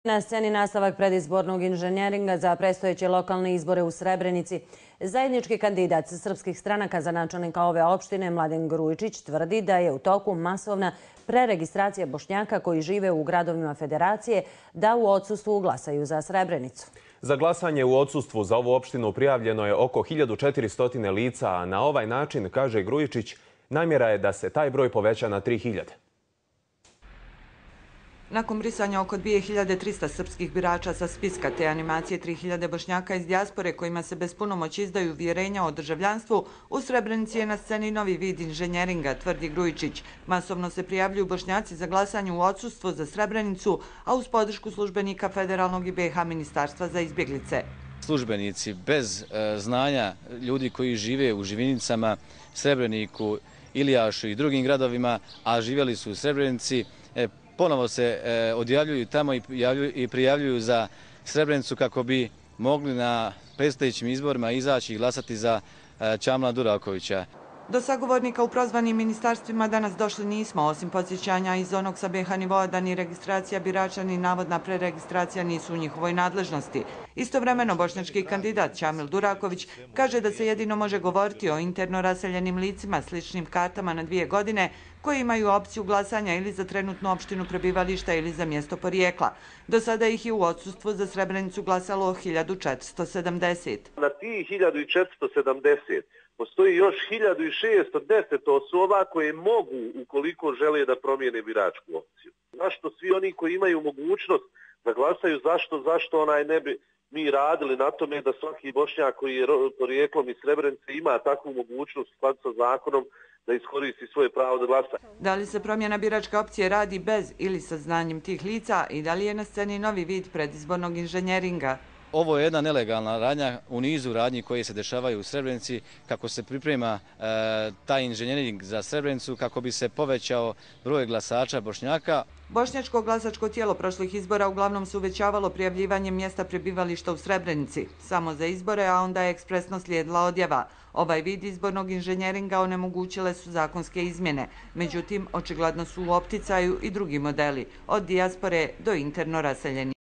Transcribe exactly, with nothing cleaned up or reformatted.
Na sceni nastavak predizbornog inženjeringa za predstojeće lokalne izbore u Srebrenici. Zajednički kandidat srpskih stranaka za načelnika ove opštine Mladen Grujičić tvrdi da je u toku masovna preregistracija Bošnjaka koji žive u gradovima Federacije da u odsustvu glasaju za Srebrenicu. Za glasanje u odsustvu za ovu opštinu prijavljeno je oko hiljadu četiristo lica, a na ovaj način, kaže Grujičić, namjera je da se taj broj poveća na tri hiljade. Nakon brisanja oko dvije hiljade trista srpskih birača sa spiska te animacije tri hiljade Bošnjaka iz dijaspore kojima se bez punomoći izdaju uvjerenja o državljanstvu, u Srebrenici je na sceni novi vid inženjeringa, tvrdi Grujičić. Masovno se prijavljuju Bošnjaci za glasanje u odsustvu za Srebrenicu, a uz podršku službenika Federalnog i B iH ministarstva za izbjeglice. Službenici bez e, znanja ljudi koji žive u Živinicama, Srebreniku, Ilijašu i drugim gradovima, a živjeli su u Srebrenici, e, ponovo se e, odjavljuju tamo i, i prijavljuju za Srebrenicu kako bi mogli na predstojećim izborima izaći i glasati za e, Čamila Durakovića. Do sagovornika u prozvanim ministarstvima danas došli nismo, osim podsjećanja iz onog sa B iH nivoa da ni registracija birača ni navodna preregistracija nisu u njihovoj nadležnosti. Istovremeno, bošnjački kandidat Čamil Duraković kaže da se jedino može govoriti o interno raseljenim licima sličnim kartama na dvije godine koji imaju opciju glasanja ili za trenutnu opštinu prebivališta ili za mjesto porijekla. Do sada ih je u odsustvu za Srebrenicu glasalo hiljadu četiristo sedamdeset. Na tih hiljadu četiristo sedamdeset postoji još hiljadu šesto deset osoba koje mogu, ukoliko žele, da promijene biračku opciju. Zašto svi oni koji imaju mogućnost da glasaju, zašto, zašto onaj ne bi mi radili na tome da svaki Bošnjak koji je porijeklom iz Srebrenice ima takvu mogućnost u skladu sa zakonom da iskoristi svoje pravo da glasa. Da li se promjena biračke opcije radi bez ili sa znanjem tih lica i da li je na sceni novi vid predizbornog inženjeringa? Ovo je jedna nelegalna radnja u nizu radnji koje se dešavaju u Srebrenici kako se priprema e, taj inženjering za Srebrenicu kako bi se povećao broj glasača Bošnjaka. Bošnjačko glasačko tijelo prošlih izbora uglavnom se uvećavalo prijavljivanjem mjesta prebivališta u Srebrenici, samo za izbore, a onda je ekspresno slijedila odjava. Ovaj vid izbornog inženjeringa onemogućile su zakonske izmjene. Međutim, očigledno su u opticaju i drugi modeli, od dijaspore do interno raseljeni.